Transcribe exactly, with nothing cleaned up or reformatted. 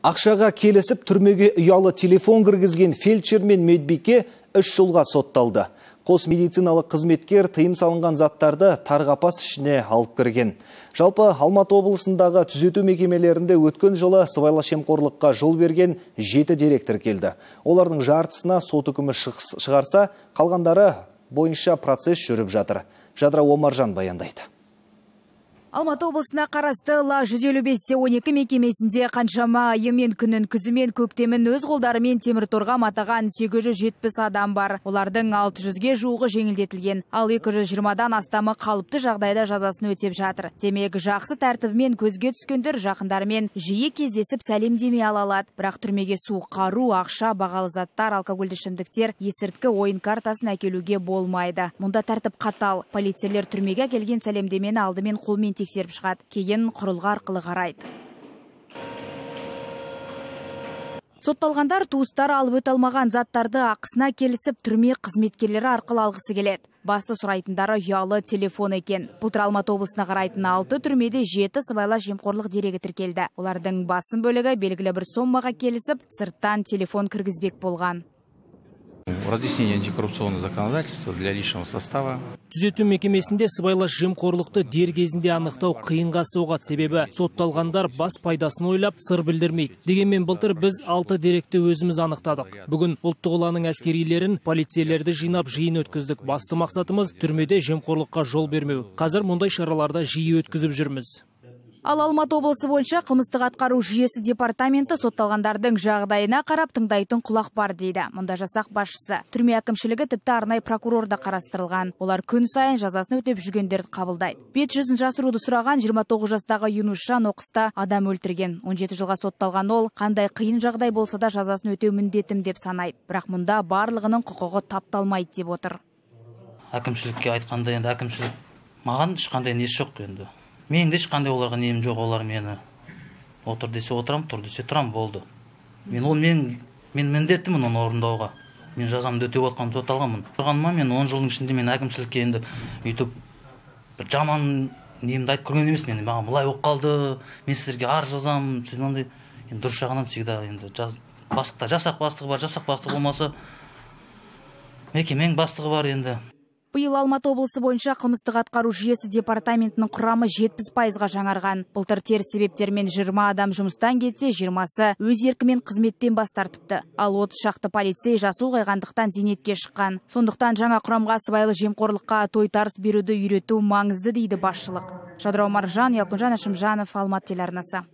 Ақшаға келісіп түрмеге ұялы телефон кіргізген фельдшер мен медбике үш жылға сотталды. Қос медициналық қызметкер тыйым салынған заттарды тарғапас ішіне алып кірген. Жалпы Алматы облысындағы түзету мекемелерінде өткен жылы сыбайлас жемқорлыққа жол берген жеті деректер келді. Олардың жартысына сот үкімі шығарса, қалғандары бойынша процесс жүріп жатыр. Жадыра Омаржан баяндайды. Алматы облысына қарасты Ла жүз елу бесте он екі мекемесінде қаншама айымен күнін, күзімен, көктемін өз қолдарымен темір торға матаған сегіз жүз жетпіс адам бар. Олардың алты жүзге жуығы жеңілдетілген, ал екі жүз жиырмадан астамы қалыпты жағдайда жазасын өтеп жатыр. Демек, жақсы тәртібімен көзге түскендер жақындарымен жиі кездесіп сәлемдеме ала алады. Бірақ түрмеге суық қару, ақша, бағалы заттар, алкогольді ішімдіктер, есірткі ойын картасын әкелуге болмайды. Мұнда тәртіп қатал. Полицейлер түрмеге келген сәлемдемені алдымен қолмен тексеріп шығады, кейін құрылғы арқылы қарайды. Сотталғандар туыстары алып өте алмаған заттарды ақысына келісіп түрме қызметкерлері арқылы алғысы келеді. Басты сұрайтындары ұялы телефон екен. Былтыр Алматы облысына қарайтын алты түрмеде жеті сыбайлас жемқорлық дерегі тіркелді. Олардың басым бөлігі белгілі бір сомаға келісіп, сырттан телефон кіргізбек болған. Разъяснение антикоррупционного законодательства для личного состава. Түзету мекемесінде сыбайлас жемқорлықты дер кезінде анықтау қиынға соғады, себебі сотталғандар бас пайдасын ойлап сыр білдірмейді. Дегенмен былтыр біз алты деректі өзіміз анықтадық. Бүгін ұлттық ұланның әскерилерін, полицейлерді жинап жиын өткіздік. Басты мақсатымыз түрмеде жемқорлыққа жол бермеу. Қазір мұндай шараларды жиі өткізіп жүрміз. Ал Алматы облысы бойынша қылмыстық атқару жүйесі департаменті сотталғандардың жағдайына қарап тыңдайтын құлақ бар дейді. Мұнда жасақ басшысы. Түрме әкімшілігі тіпті арнайы прокурор да қарастырылған. Олар күн сайын жазасын өтеп жүргендерді қабылдайды. Бет жүзін жасыруды сұраған жиырма тоғыз жастағы Юнусжан оқыста адам өлтірген. он жеті жылға сотталған ол, қандай қиын жағдай болса да жазасын өтеу міндетім деп санайды. Бірақ мұнда барлығының құқығы тапталмайды деп отыр. Әкімшілікке айтқанда енді әкімшілік маған ешқандай несі жоқ енді. Мен де ешқандай оларға нем жоқ, олар мені отыр десе отырам, тұр десе тұрам, болды. Мен ол мен мен міндеттімін оны орындауға. Мен жазамды өтеп отқан сотталғанмын. Тұрғаныма мен он жылдың ішінде мен әкімшілікке енді өйтіп бір жаман немді айтып көрген емес, мен маған былай болып қалды, мен сіздерге арыз жазамын, сіз мынандай енді дұрыс жағынан всегда енді бастықта жасақ бастығы бар, жасақ бастығы болмаса мекеменің бастығы бар енді. Биыл Алматы облысы бойынша қылмыстық атқару жүйесі департаментінің құрамы жетпіс пайызға жаңарған. Былтыр теріс себептермен жиырма адам жұмыстан кетсе, жиырмасы өз еркімен қызметтен бас тартыпты. Ал отыз шақты полицей жасы ұлғайғандықтан зейнетке шыққан. Сондықтан жаңа құрамға сыбайлас жемқорлыққа тойтарыс беруді үйрету маңызды дейді басшылық. Жадыра Омаржан, Ялкынжан Ашымжанов, Алматы телеарнасы.